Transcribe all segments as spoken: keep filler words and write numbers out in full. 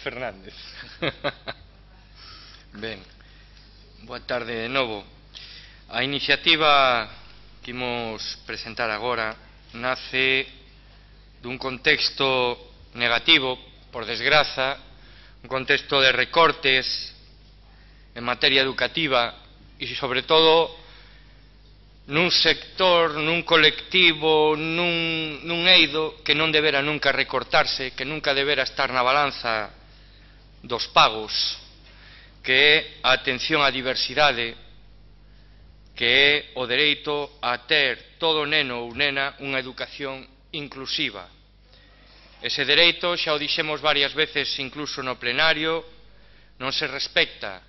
Fernández. Ben, boa tarde de novo. A iniciativa que imos presentar agora nace dun contexto negativo, por desgraza, un contexto de recortes en materia educativa e, sobre todo, nun sector, nun colectivo, nun, nun eido que non debera nunca recortarse, que nunca debera estar na balanza dos pagos, que é a atención á diversidade, que é o dereito a ter todo neno ou nena unha educación inclusiva. Ese dereito, xa o dixemos varias veces incluso no plenario, non se respecta.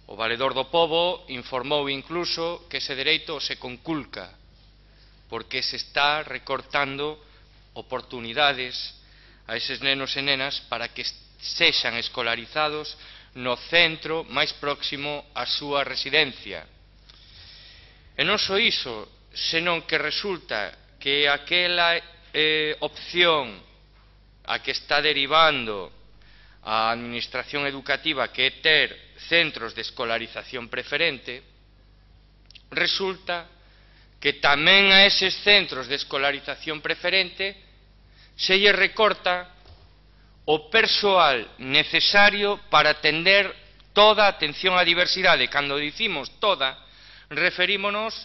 O Valedor do Pobo informou incluso que ese dereito se conculca, porque se está recortando oportunidades a eses nenos e nenas para que sexan escolarizados no centro máis próximo á súa residencia. E non só iso, senón que resulta que aquela eh, opción a que está derivando a administración educativa, que é ter centros de escolarización preferente, resulta que tamén a eses centros de escolarización preferente se lle recorta o persoal necesario para atender toda a atención á diversidade. Cando dicimos toda, referímonos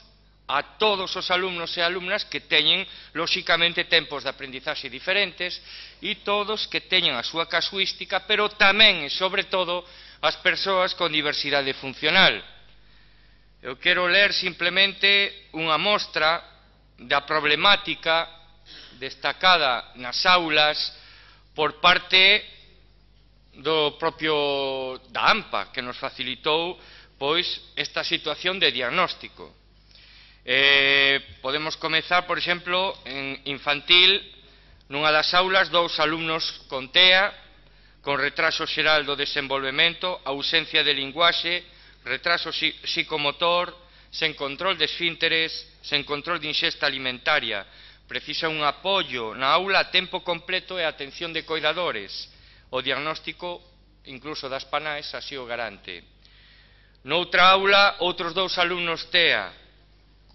a todos os alumnos e alumnas que teñen, lóxicamente, tempos de aprendizaxe diferentes e todos que teñen a súa casuística, pero tamén e, sobre todo, as persoas con diversidade funcional. Eu quero ler simplemente unha mostra da problemática destacada nas aulas por parte do propio da AMPA, que nos facilitou pois esta situación de diagnóstico. Eh, podemos comezar, por exemplo, en infantil, nunha das aulas, dous alumnos con TEA, con retraso xeral do desenvolvemento, ausencia de linguaxe, retraso psicomotor, sen control de esfínteres, sen control de ingesta alimentaria. Precisa un apoio na aula a tempo completo e atención de coidadores. O diagnóstico, incluso das PANAES, así o garante. Noutra aula, outros dous alumnos TEA,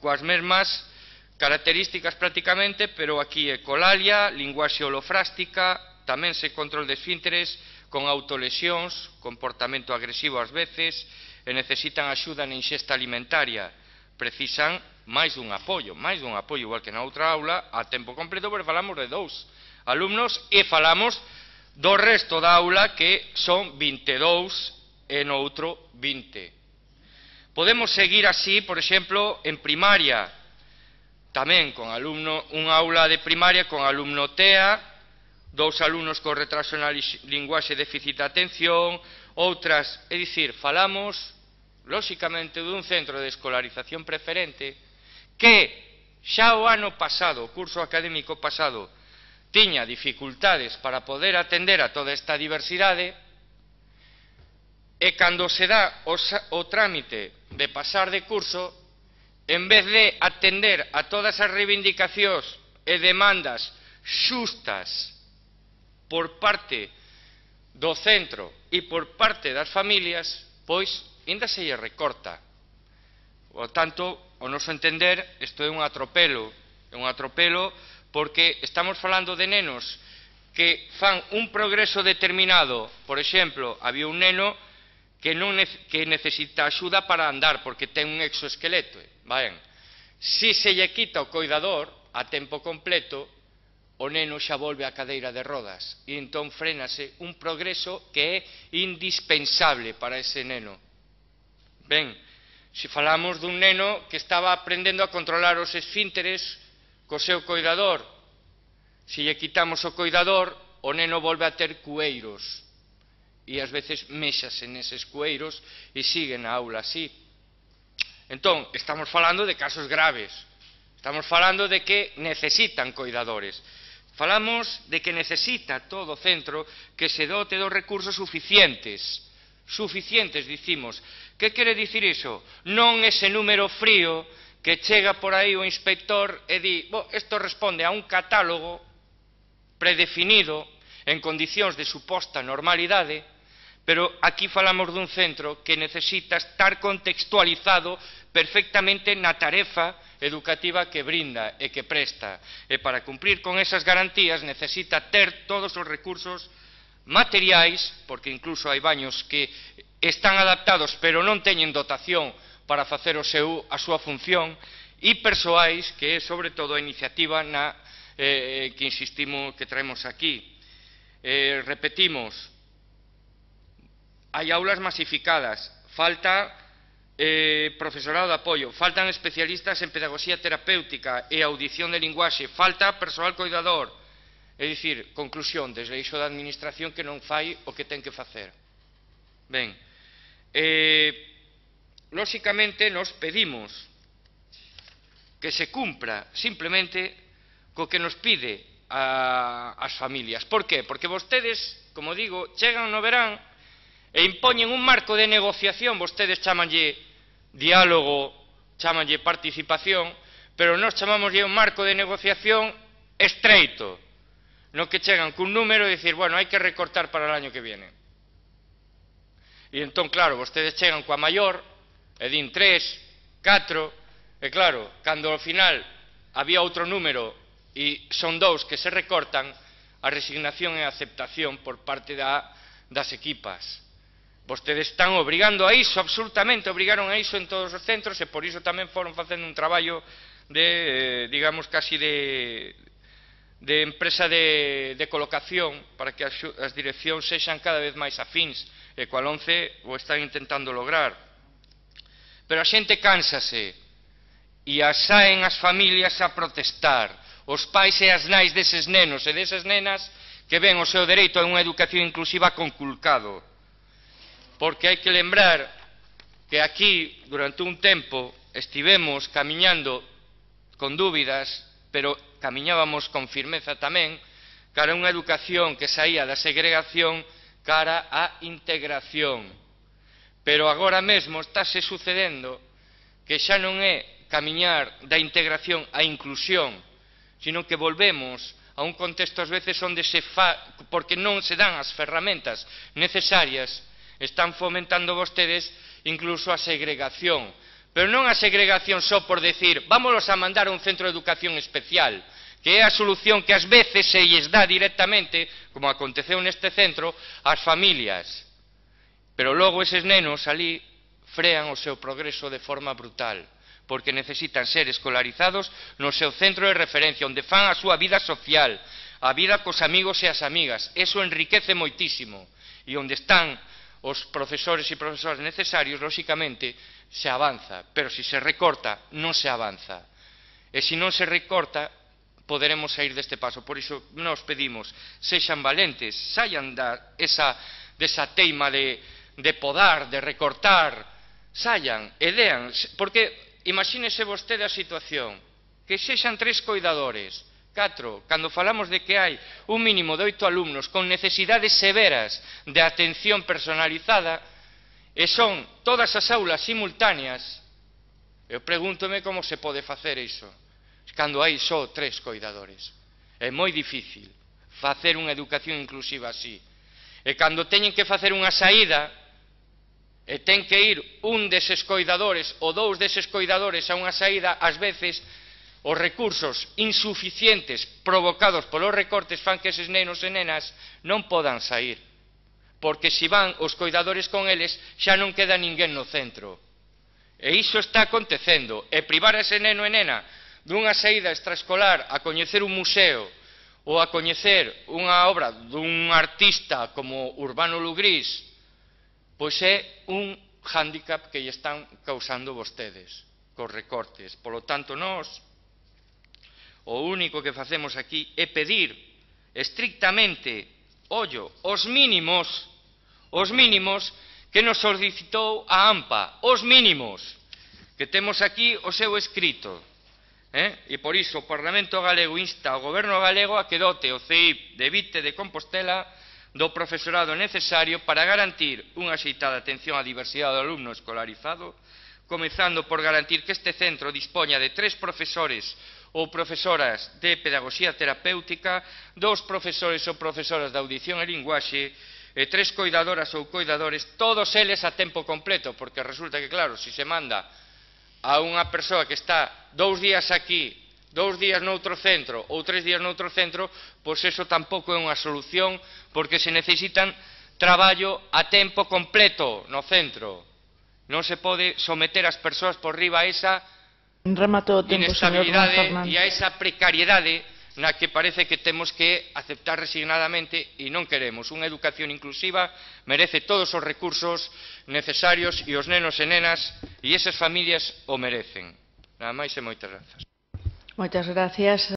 coas mesmas características prácticamente, pero aquí é colalia, linguaxe holofrástica, tamén sen control de esfínteres, con autolesións, comportamento agresivo ás veces, e necesitan axuda na ingesta alimentaria. Precisan máis dun apoio, máis dun apoio, igual que na outra aula, a tempo completo, pero falamos de dous alumnos e falamos do resto da aula, que son vinte e dous e no outro vinte. Podemos seguir así, por exemplo, en primaria, tamén con alumno, unha aula de primaria con alumno TEA, dous alumnos con retraso na linguaxe e déficit de atención, outras, é dicir, falamos, lóxicamente, dun centro de escolarización preferente que xa o ano pasado, o curso académico pasado, tiña dificultades para poder atender a toda esta diversidade, e cando se dá o, o trámite de pasar de curso, en vez de atender a todas as reivindicacións e demandas xustas por parte do centro e por parte das familias, pois, ainda se lle recorta. Por tanto, ao noso entender, isto é un atropelo, é un atropelo porque estamos falando de nenos que fan un progreso determinado. Por exemplo, había un neno que, non que necesita axuda para andar, porque ten un exoesqueleto. Ben, si se lle quita o coidador a tempo completo, o neno xa volve á cadeira de rodas, e entón frénase un progreso que é indispensable para ese neno. Ben, se falamos dun neno que estaba aprendendo a controlar os esfínteres co seu coidador, se lle quitamos o coidador, o neno volve a ter cueiros, e ás veces méxase neses cueiros e sigue na aula así. Entón, estamos falando de casos graves, estamos falando de que necesitan coidadores, falamos de que necesita todo centro que se dote dos recursos suficientes, suficientes, dicimos. Que quere dicir iso? Non ese número frío que chega por aí o inspector e di, bo, isto responde a un catálogo predefinido, en condicións de suposta normalidade, pero aquí falamos dun centro que necesita estar contextualizado perfectamente na tarefa educativa que brinda e que presta. E para cumprir con esas garantías necesita ter todos os recursos materiais, porque incluso hai baños que están adaptados pero non teñen dotación para facer o seu, a súa función, e persoais, que é sobre todo a iniciativa na, eh, que insistimos que traemos aquí. Eh, repetimos, hai aulas masificadas, falta eh, profesorado de apoio, faltan especialistas en pedagogía terapéutica e audición de linguaxe, falta persoal coidador. É dicir, conclusión, desleixo da administración que non fai o que ten que facer. Ben, eh, lóxicamente nos pedimos que se cumpra simplemente co que nos pide a, as familias. Por que? Porque vostedes, como digo, chegan no verán e impoñen un marco de negociación, vostedes chamanlle diálogo, chamanlle participación, pero nós chamámoslle un marco de negociación estreito, no que chegan cun número e dicir, bueno, hai que recortar para o año que viene. E entón, claro, vostedes chegan coa maior, e din tres, catro, e claro, cando ao final había outro número e son dous que se recortan, a resignación e a aceptación por parte da, das equipas. Vostedes están obrigando a iso, absolutamente obrigaron a iso en todos os centros e por iso tamén foron facendo un traballo de, digamos, casi de, de empresa de, de colocación para que as, as direccións sexan cada vez máis afíns e coa LOMCE o están intentando lograr. Pero a xente cánsase e as saen as familias a protestar, os pais e as nais deses nenos e desas nenas que ven o seu dereito a unha educación inclusiva conculcado. Porque hai que lembrar que aquí, durante un tempo, estivemos camiñando con dúbidas, pero camiñábamos con firmeza tamén, cara a unha educación que saía da segregación cara á integración. Pero agora mesmo estáse sucedendo que xa non é camiñar da integración á inclusión, sino que volvemos a un contexto ás veces onde se fa, porque non se dan as ferramentas necesarias, están fomentando vostedes incluso a segregación, pero non a segregación só por decir vámonos a mandar a un centro de educación especial, que é a solución que ás veces se lles dá directamente, como aconteceu neste centro, ás familias. Pero logo eses nenos ali frean o seu progreso de forma brutal, porque necesitan ser escolarizados no seu centro de referencia, onde fan a súa vida social, a vida cos amigos e as amigas. Eso enriquece moitísimo, e onde están os profesores e profesoras necesarios, lóxicamente, se avanza, pero se se recorta, non se avanza. E se non se recorta, poderemos sair deste paso. Por iso nos pedimos, sexan valentes, saian da esa, desa teima de, de podar, de recortar, saian e dean, porque imagínese vostede a situación, que sexan tres coidadores, catro, cando falamos de que hai un mínimo de oito alumnos con necesidades severas de atención personalizada e son todas as aulas simultáneas, eu pregúntome como se pode facer iso cando hai só tres coidadores. É moi difícil facer unha educación inclusiva así. E cando teñen que facer unha saída e ten que ir un deses coidadores ou dous deses coidadores a unha saída, ás veces os recursos insuficientes provocados polos recortes fan que eses nenos e nenas non podan sair, porque se van os coidadores con eles xa non queda ninguén no centro. E iso está acontecendo, e privar a ese neno e nena dunha saída extraescolar a coñecer un museo ou a coñecer unha obra dun artista como Urbano Lugrís, pois é un hándicap que lle están causando vostedes cos recortes. Polo tanto, nós o único que facemos aquí é pedir estrictamente, ollo, os mínimos, os mínimos que nos solicitou a AMPA, os mínimos, que temos aquí o seu escrito. Eh? E por iso o Parlamento Galego insta ao Goberno galego a que dote o C I P de Vite de Compostela do profesorado necesario para garantir unha axeitada atención á diversidade do alumno escolarizado, comezando por garantir que este centro dispoña de tres profesores ou profesoras de pedagogía terapéutica, dous profesores ou profesoras de audición e linguaxe, e tres coidadoras ou coidadores, todos eles a tempo completo, porque resulta que, claro, se se manda a unha persoa que está dous días aquí, dous días noutro centro ou tres días noutro centro, pois eso tampouco é unha solución, porque se necesitan traballo a tempo completo no centro. Non se pode someter as persoas por riba a esa inestabilidade e a esa precariedade na que parece que temos que aceptar resignadamente e non queremos. Unha educación inclusiva merece todos os recursos necesarios e os nenos e nenas e esas familias o merecen. Nada máis e moitas grazas. Moitas gracias.